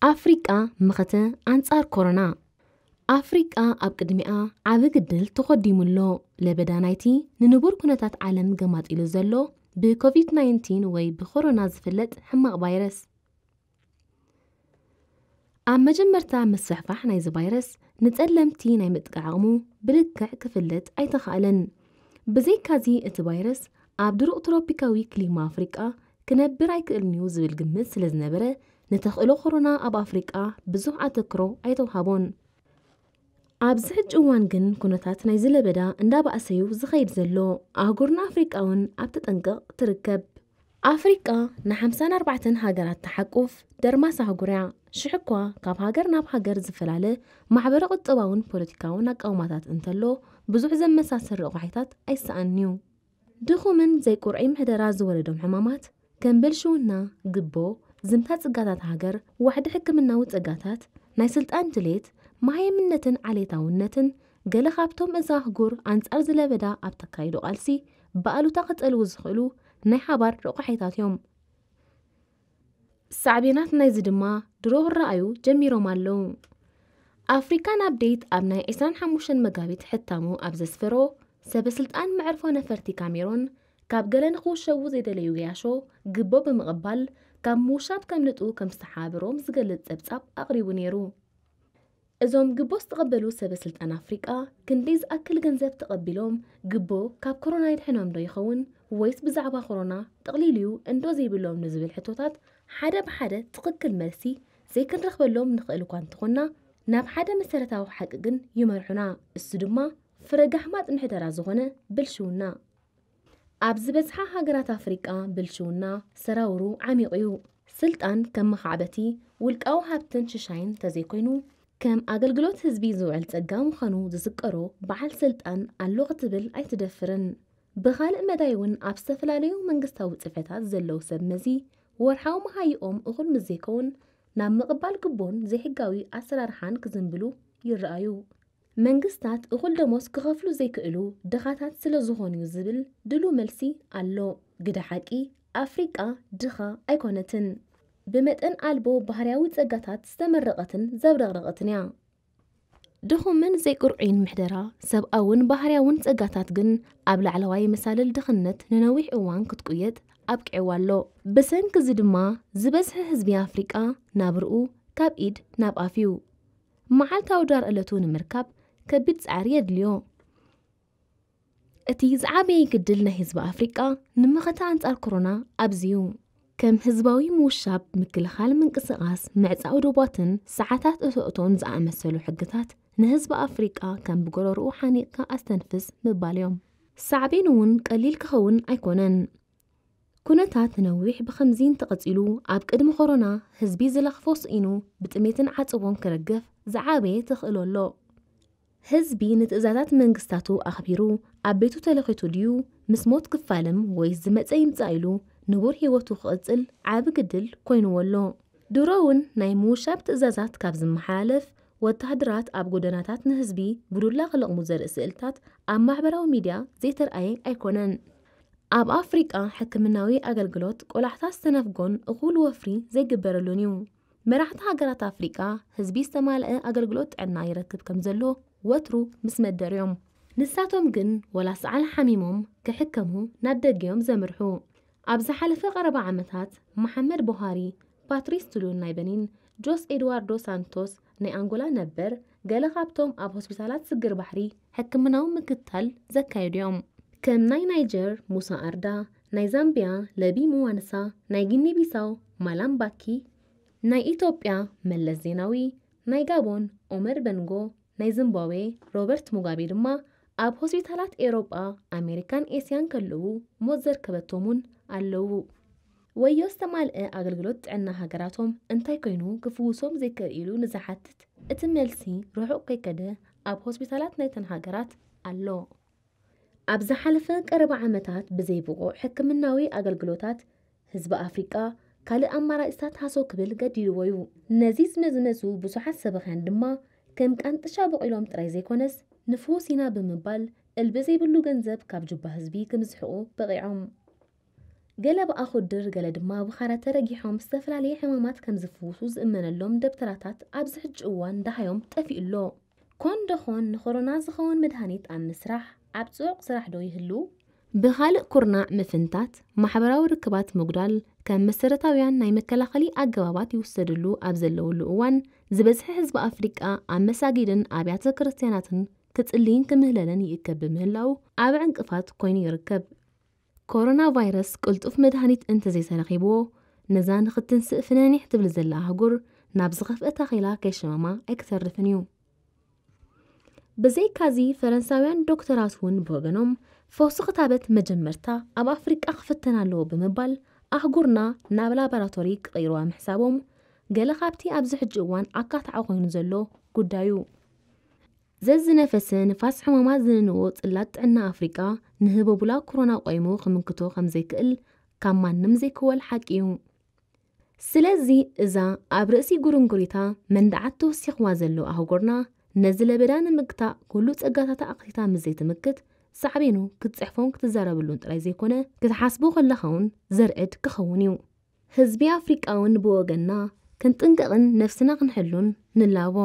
ኣፍሪቃ መኸተ ኣንጻር ኮሮና። ኣፍሪቃ ኣብ ቅድሚኣ ዓቢ ግድል ተኾዲሙ ኣሎ። ለበዳ ናይቲ ንንቡር ኩነታት ዓለም ገማጢሉ ዘሎ ብኮቪድ ናይንቲን ወይ ብኮሮና ዝፍለጥ ሕማቕ ቫይረስ። ኣብ መጀመርታ ምስፍሕፋሕ ናይዚ ቫይረስ ንጸለምቲ ናይ ምጥቃዕ ዓቕሙ ብልክዕ ክፍለጥ ኣይተኻእለን። ብዘይካዚ እቲ ቫይረስ ኣብ ድሩቕ ትሮፒካዊ ክሊማ ኣፍሪቃ ክነብር ኣይክእልን'ዩ ዝብል ግምት ስለ ዝነበረ፣ ንተኽእሎ ኮሮና ኣብ ኣፍሪቃ ብዙሕ ኣተክሮ ኣይተውሃቦን። ኣብዚ ሕጂ እዋን ግን ኩነታት ናይዚ ለበዳ እንዳባእሰ'ዩ ዝኸይድ ዘሎ። ኣህጉርና ኣፍሪቃ እውን ኣብ ተጠንቀቕ ትርከብ። ኣፍሪቃ ንሓምሳን ኣርባዕተን ሃገራት ትሓቁፍ ደርማስ ኣህጉር እያ። ሽሕ እኳ ካብ ሃገር ናብ ሃገር ዝፈላለ ማሕበረ ቁጠባውን ፖለቲካውን ኣቃውማታት እንተሎ፣ ብዙሕ ዘመሳስል ረቋሒታት ኣይሰኣንን'ዩ። ድኹምን ዘይቁርዒ ምሕደራ ዝወለዶም ሕማማት ከም ብልሽውና፣ ግቦ፣ ዝምታ ጽጋታት ሃገር፣ ዋሕዲ ሕክምናዊ ጸጋታት፣ ናይ ስልጣን ድሌት፣ መሃይምነትን ዓሌታውነትን ገለ ካብቶም እዛ ኣህጉር ኣንጻር ዝለበዳ ኣብ ተካይዶ ቃልሲ ብኣሉታ ክጸልዉ ዝኽእሉ ናይ ሓባር ረቋሒታት እዮም። ሳዕቤናት ናይዚ ድማ ድሮ ክረኣዩ ጀሚሮም ኣለዉ። ኣፍሪካን ኣፕዴት ኣብ ናይ ዕስራን ሓሙሽተን መጋቢት ሕታሙ ኣብ ዘስፈሮ፣ ሰበ ስልጣን መዕርፎ ነፈርቲ ካሜሮን ካብ ገለ ንክውሸቡ ዘይደለዩ ገያሾ ግቦ ብምቕባል ካብ ምውሻብ ከምልጡ ከም ዝተሓባበሮም ዝገልጽ ጸብጻብ ኣቕሪቡ ነይሩ። እዞም ግቦ ዝተቐበሉ ሰበ ስልጣን ኣፍሪቃ ክንደይ ዝኣክል ገንዘብ ተቐቢሎም፣ ግቦ ካብ ኮሮና የድሕኖም ዶ ይኸውን ወይስ ብዛዕባ ኮሮና ጠቕሊሉ'ዩ እንዶ ዘይብሎም ንዝብል ሕቶታት ሓደ ብሓደ ትኽክል መልሲ ዘይክንረኽበሎም ንኽእል እኳ እንተኾንና፣ ናብ ሓደ መሰረታዊ ሓቂ ግን ይመርሑና። እሱ ድማ ፍረ ጋሕማጥ ምሕደራ ዝኾነ ብልሽውና። ኣብ ዝበዝሓ ሃገራት ኣፍሪቃ ብልሽውና ሰራውሩ ዓሚቑ'ዩ። ስልጣን ከም መኻዕበቲ ውልቃዊ ሃብትን ሽሻይን እንተዘይኮይኑ፣ ከም ኣገልግሎት ህዝቢ ዝውዕል ጸጋ ምዃኑ ዝዝቀሮ በዓል ስልጣን ኣሎ ክትብል ኣይትደፍርን። ብኻልእ መዳይ እውን ኣብ ዝተፈላለዩ መንግስታዊ ጽፈታት ዘለዉ ሰብ መዚ ወርሓዊ መሃይኦም እኹል ምስ ዘይከውን ናብ ምቕባል ግቦን ዘይሕጋዊ ኣሰራርሓን ክዝንብሉ ይረኣዩ። መንግስታት እኹል ደሞዝ ክኸፍሉ ዘይክእሉ ድኻታት ስለ ዝኾኑ'ዩ ዝብል ድሉው መልሲ ኣሎ። ግደ ሓቂ ኣፍሪቃ ድኻ ኣይኮነትን። ብመጠን ኣልቦ ባህርያዊ ጸጋታት ዝተመረቐትን ዘብረቕረቐትን እያ። ድኹምን ዘይቁርዑይን ምሕደራ ሰብኣውን ባህርያውን ጸጋታት ግን ኣብ ላዕለዋይ መሳልል ድኽነት ንነዊሕ እዋን ክትቁየጥ ኣብቂዕዋ ኣሎ። ብሰንኪ እዚ ድማ ዝበዝሐ ህዝቢ ኣፍሪቃ ናብርኡ ካብ ኢድ ናብ ኣፍ እዩ። መዓልታዊ ዳር ዕለቱ ንምርካብ ከቢድ ጻዕሪ የድልዮ። እቲ ዝዓበየ ግድል ናይ ህዝቢ ኣፍሪቃ ንመኸተ ኣንጻር ኮሮና ኣብዚ'ዩ። ከም ህዝባዊ ምውሻብ፣ ምክልኻል ምንቅስቓስ፣ ምዕጻው ዶባትን ሰዓታት እቶእቶን ዝኣመሰሉ ሕግታት ንህዝቢ ኣፍሪቃ ከም ብጎረርኡ ሓኒቕካ ኣስተንፍስ ምባል እዮም። ሳዕቤኑ እውን ቀሊል ክኸውን ኣይኮነን። ኩነታት ንነዊሕ ብኸምዚ እንተቐጺሉ፣ ኣብ ቅድሚ ኮሮና ህዝቢ ዝለኽፎ ስኢኑ ብጥሜትን ዓጸቦን ክረግፍ ዝዓበየ ተኽእሎ ኣሎ። ህዝቢ ንትእዛዛት መንግስታቱ ኣኽቢሩ ኣብ ቤቱ ተለኺቱ ድዩ ምስ ሞት ክፋለም ወይስ ዝመጸ ይምጻእ ኢሉ ንቡር ህይወቱ ክቕጽል ዓቢ ግድል ኮይንዎ ኣሎ። ድሮ እውን ናይ ምውሻብ ትእዛዛት ካብ ዝመሓላለፍ፣ ወተሃደራት ኣብ ጎደናታት ንህዝቢ ብዱላ ክለቕሙ ዘርኢ ስእልታት ኣብ ማሕበራዊ ሚድያ ዘይተርኣየ ኣይኮነን። ኣብ ኣፍሪቃ ሕክምናዊ ኣገልግሎት ቆላሕታ ዝተነፍጎን እኹል ወፍሪ ዘይግበረሉን እዩ። መራሕቲ ሃገራት ኣፍሪቃ ህዝቢ ዝተማልአ ኣገልግሎት ጥዕና ይረክብ ከም ዘሎ ወትሩ ምስ መደሩ እዮም። ንሳቶም ግን ወላ ሰዓል ሓሚሞም ክሕከሙ ናብ ደገ እዮም ዘምርሑ። ኣብ ዝሓለፈ ቀረባ ዓመታት መሓመድ ቡሃሪ፣ ፓትሪስ ቱሉን ናይ በኒን፣ ጆስ ኤድዋርዶ ሳንቶስ ናይ ኣንጎላ ነበር፣ ገለ ካብቶም ኣብ ሆስፒታላት ስግር ባሕሪ ሕክምናዊ ምክትታል ዘካየዱ እዮም። ከም ናይ ናይጀር ሙሳ ኣርዳ፣ ናይ ዛምቢያ ለቢ ሙዋንሳ፣ ናይ ጊኒ ቢሳው ማላም ባኪ፣ ናይ ኢትዮጵያ መለስ ዜናዊ፣ ናይ ጋቦን ኦመር በንጎ፣ ናይ ዚምባብዌ ሮበርት ሙጋቤ ድማ ኣብ ሆስፒታላት ኤውሮጳ፣ ኣሜሪካን ኤስያን ከለዉ ሞት ዘርከበቶም እውን ኣለዉ። ወዮ ዝተማልአ ኣገልግሎት ጥዕና ሃገራቶም እንታይ ኮይኑ ክፍውሶም ዘይክእል ኢሉ ንዝሓትት እቲ መልሲ ርሑቕ ከይከደ ኣብ ሆስፒታላት ናይተን ሃገራት ኣሎ። ኣብ ዝሓለፈ ቀረባ ዓመታት ብዘይ ብቑዕ ሕክምናዊ ኣገልግሎታት ህዝቢ ኣፍሪቃ ካልእ ኣማራጺታት ሃሰው ክብል ገዲድዎ እዩ። ነዚ ዝመዝመዙ ብዙሓት ሰበኽያን ድማ ከም ቃንጥሻ በቒሎም ጥራይ ዘይኮነስ ንፍዉስ ኢና ብምባል እልቢ ዘይብሉ ገንዘብ ካብ ጁባ ህዝቢ ክምዝሕቑ በቒዖም። ገለ ብኣኹድር፣ ገለ ድማ ብኻራ ተረጊሖም ዝተፈላለየ ሕማማት ከም ዝፍውሱ ዝእመነሎም ደብተራታት ኣብዚ ሕጂ እዋን ደሃዮም ጠፊኡ ኣሎ። ኮን ደኾን ንኮሮና ዝኸውን መድሃኒት ኣብ ምስራሕ ኣብ ጽዑቕ ስራሕ ዶ ይህሉ? ብኻልእ ኩርናዕ ምፍንታት፣ ማሕበራዊ ርክባት ምጉዳል ከም መሰረታውያን ናይ መከላኸሊ ኣገባባት ይውሰድሉ ኣብ ዘለውሉ እዋን፣ ዝበዝሐ ህዝቢ ኣፍሪቃ ኣብ መሳጊድን ኣብያተ ክርስትያናትን ክጽልይን ክምህለልን ይእከብ ብምህላው ኣብ ዕንቅፋት ኮይኑ ይርከብ። ኮሮና ቫይረስ ቅልጡፍ መድሃኒት እንተዘይተረኺብዎ፣ ነዛ ንኽትንስእ ፍነኒሕ ትብል ዘላ ኣህጉር ናብ ዝኸፍአ ታኺላ ከይሸመማ ኣይክተርፍን እዩ። ብዘይካዚ፣ ፈረንሳውያን ዶክተራት እውን ብወገኖም፣ ፈውሲ ክታበት መጀመርታ ኣብ ኣፍሪቃ ክፍተን ኣለዎ ብምባል፣ ኣህጉርና ናብ ላቦራቶሪ ክቕይርዋ ምሕሳቦም፣ ገለ ካብቲ ኣብዚ ሕጂ እዋን ኣካታዒ ኮይኑ ዘሎ ጉዳዩ። ዘዝነፈሰ ንፋስ ሕማማት ዝንንዎ ጽላት ጥዕና ኣፍሪቃ፣ ንህቦቡላ ኮሮና ቆይሙ ክምክቶ ከም ዘይክእል ካብ ማንም ዘይክወል ሓቂ እዩ። ስለዚ፣ እዛ ኣብ ርእሲ ጉርንጉሪታ መንደዓት ተወሲኽዋ ዘሎ ኣህጉርና፣ ነዚ ለበዳ ንምግታእ ኩሉ ጸጋታታ ኣኽቲታ ምስ ዘይትምክት፣ ሳዕቤኑ ክትጽሕፎን ክትዛረበሉን ጥራይ ዘይኮነ፣ ክትሓስቦ ከለኻ እውን ዘርዕድ ክኸውን እዩ። ህዝቢ ኣፍሪቃ እውን ብወገንና ክንጥንቀቕን ነፍስና ክንሕሉን ንላቦ።